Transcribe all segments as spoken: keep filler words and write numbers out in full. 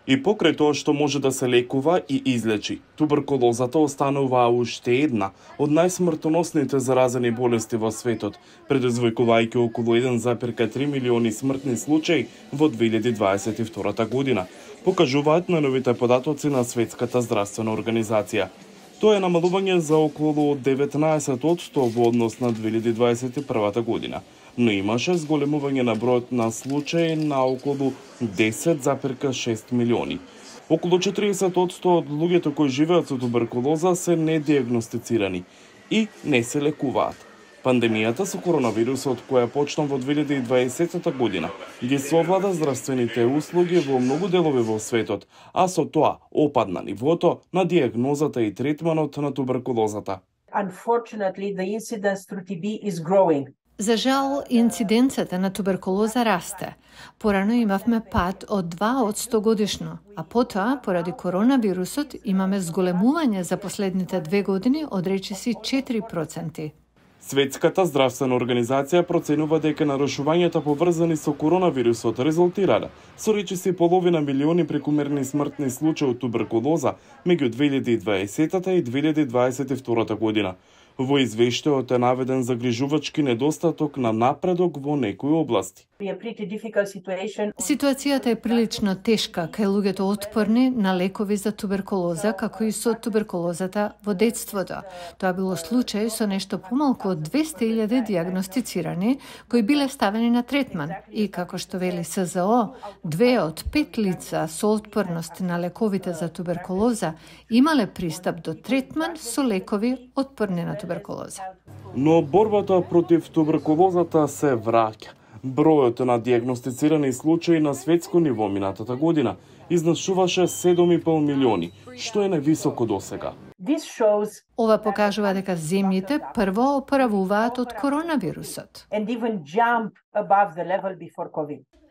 И покрај тоа што може да се лекува и излечи, туберкулозата останува уште една од најсмртоносните заразени болести во светот, предизвикувајќи околу еден зарез три милиони смртни случаи во две илјади дваесет и втора година, покажуваат најновите податоци на Светската здравствена организација. Тоа е намалување за околу деветнаесет одсто во однос на две илјади дваесет и прва година, но имаше зголемување на бројот на случаи на околу десет зарез шест милиони. Околу четириесет одсто од луѓето кои живеат со туберкулоза се недиагностицирани и не се лекуваат. Пандемијата со коронавирусот, која почна во две илјади и дваесета година, ги совлада здравствените услуги во многу делови во светот, а со тоа опадна нивото на диагнозата и третманот на туберкулозата. Unfortunately, the incidence through T B is growing. За жал, инциденцата на туберкулоза расте. Порано имавме пад од два одсто годишно, а потоа, поради коронавирусот, имаме зголемување за последните две години од речиси четири проценти. Светската здравствена организација проценува дека нарушувањата поврзани со коронавирусот резултирале со речиси половина милиони прекумерни смртни случаи од туберкулоза меѓу две илјади и дваесета и две илјади дваесет и втора година. Во извештајот е наведен загрижувачки недостаток на напредок во некои области. Ситуацијата е прилично тешка кај луѓето отпорни на лекови за туберкулоза, како и со туберкулозата во детството. Тоа било случај со нешто помалку од двесте илјади диагностицирани кои биле ставени на третман. И како што вели С З О, две од пет лица со отпорност на лековите за туберкулоза имале пристап до третман со лекови отпорни на туберкулоза. Но борбата против туберкулозата се враќа. Бројот на диагностицирани случаи на светско ниво минатата година изнашуваше седум и пол милиони, што е највисоко досега. Ова покажува дека земјите прво оправуваат од коронавирусот.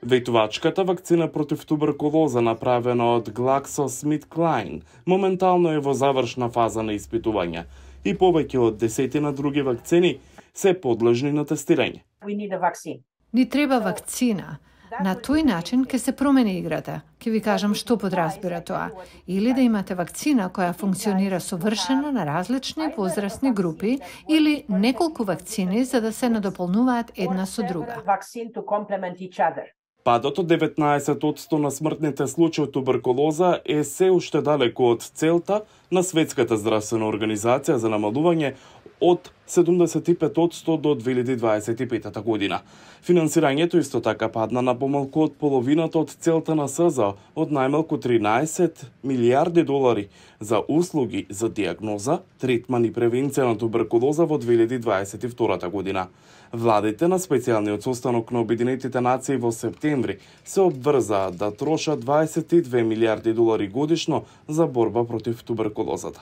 Ветувачката вакцина против туберкулоза, направена од GlaxoSmithKline, моментално е во завршна фаза на испитување и повеќе од десетина други вакцини се подлежни на тестирање. Ни треба вакцина. На тој начин ќе се промени играта. Ќе ви кажам што подразбира тоа. Или да имате вакцина која функционира совршено на различни возрастни групи, или неколку вакцини за да се надополнуваат една со друга. Падот од деветнаесет одсто на смртните случаи од туберкулоза е се уште далеку од целта на Светската здравствена организација за намалување од седумдесет и пет одсто до две илјади дваесет и пета година. Финансирањето исто така падна на помалку од половината од целта на С З О од најмалку тринаесет милијарди долари за услуги за диагноза, третман и превенција на туберкулоза во две илјади дваесет и втора година. Владите на специјалниот состанок на Обединетите нации во септември се обврзаа да трошат дваесет и две милијарди долари годишно за борба против туберкулозата.